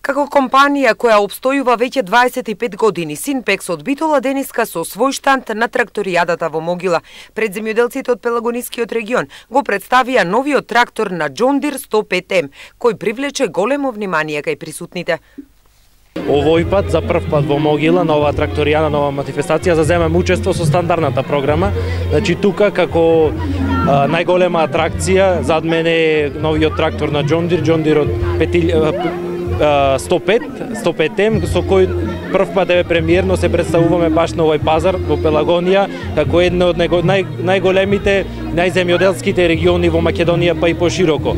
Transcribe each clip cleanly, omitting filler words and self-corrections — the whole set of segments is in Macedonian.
Како компанија која опстојува веќе 25 години, Синпекс од Битола денеска со свој штанд на тракторијадата во Могила. Пред земјоделците од Пелагонискиот регион го представија новиот трактор на John Deere 105M, кој привлече големо внимание кај присутните. Овој пат, за прв пат во Могила, на оваа тракторијана, нова манифестација, заземам учество со стандардната програма. Значи, тука, како најголема атракција, зад мене е новиот трактор на John Deere од 105M, со кој прв пат премиерно се представуваме баш на овој пазар во Пелагонија, како едно од најголемите, најземјоделските региони во Македонија, па и пошироко.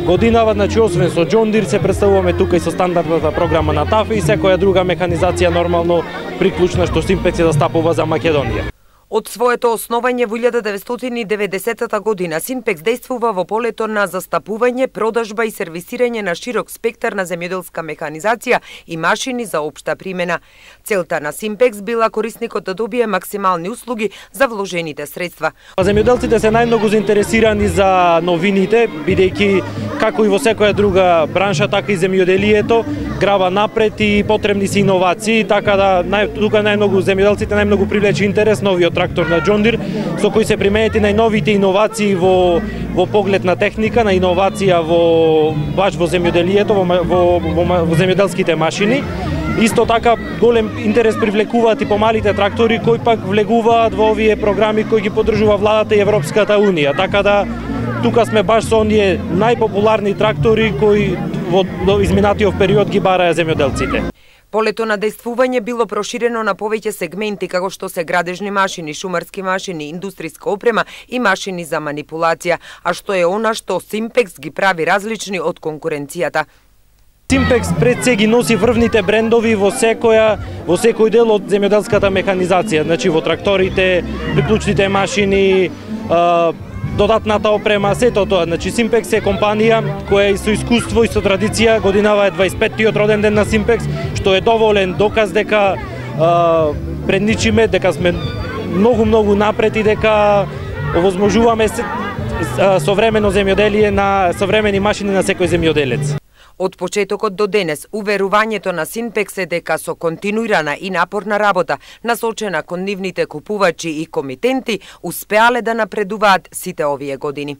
Годинава, значи, освен со John Deere, се представуваме тука и со стандардната програма на ТАФ и секоја друга механизација нормално приклучна што Синпекс ја застапува за Македонија. Од своето основање во 1990 година, Синпекс действува во полето на застапување, продажба и сервисирање на широк спектар на земјоделска механизација и машини за општа примена. Целта на Синпекс била корисникот да добие максимални услуги за вложените средства. Земјоделците се најмногу заинтересирани за новините, бидејќи како и во секоја друга бранша, така и земјоделието грава напред и потребни се иновации, така да тука најмногу земјоделците најмногу привлече интерес новиот трактор на John Deere, со кој се применети најновите иновации во поглед на техника, на иновација баш во земјоделието, во земјоделските машини. Исто така голем интерес привлекуваат и помалите трактори кои пак влегуваат во овие програми кои ги поддржува владата и Европската унија. Така да тука сме баш со оние најпопуларни трактори кои во изминатиот период ги бараја земјоделците. Полето на действување било проширено на повеќе сегменти, како што се градежни машини, шумарски машини, индустријска опрема и машини за манипулација, а што е она што Синпекс ги прави различни од конкуренцијата. Синпекс пред се ги носи врвните брендови во секој дел од земјоделската механизација, значи во тракторите, приклучните машини, додатната опрема, сето тоа. Значи, Синпекс е компанија која е со искуство и со традиција, годинава е 25-тиот роден ден на Синпекс, што е доволен доказ дека предничиме, дека сме многу напред и дека овозможуваме современо земјоделие на современи машини на секој земјоделец. Од почетокот до денес, уверувањето на Синпекс е дека со континуирана и напорна работа, насочена кон нивните купувачи и комитенти, успеале да напредуваат сите овие години.